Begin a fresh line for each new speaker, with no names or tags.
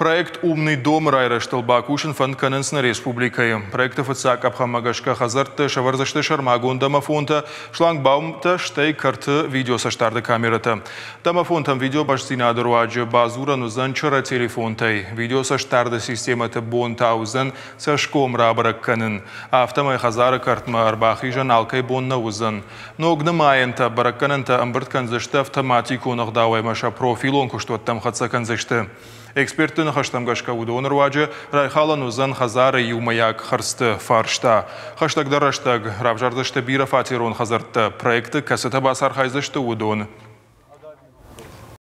Проект «Умный дом» райрӕзтыл бакусын фӕнд кӕнынц нӕ республикӕйы. Проекты фыццаг къӕпхӕнмӕ гӕсгӕ хӕдзӕртты сӕвӕрдзысты сӕрмагонд домофонтӕ, шлагбаумтӕ, стӕй кӕрты видеоцӕстдарды камерӕтӕ. Домофонтӕм видеобастдзинады руаджы бадзурӕн уыдзӕн чырӕ телефонтӕй. Видеоцӕстдарды системӕты бон та уыдзӕн цӕсгом рабӕрӕг кӕнын. Афтӕмӕй хӕдзары кӕртмӕ ӕрбахизӕн алкӕй бон нӕ уыдзӕн. Ног нымайӕнтӕ, бӕрӕггӕнӕнтӕ ӕмбырд кӕндзысты автоматикон ӕгъдауӕй ӕмӕ сӕ профилон куыстуӕттӕм хӕццӕ кӕндзысты. Экспертты ныхӕстӕм гӕсгӕ уыдоны руаджы райхалӕн уыдзӕн хӕдзары иумӕйаг хӕрдзты фарста. Хӕстӕгдӕр рӕстӕг равзардзысты бирӕфатерон хӕдзӕрттӕ, проекты кӕцытӕ бацархайдзысты, уыдон.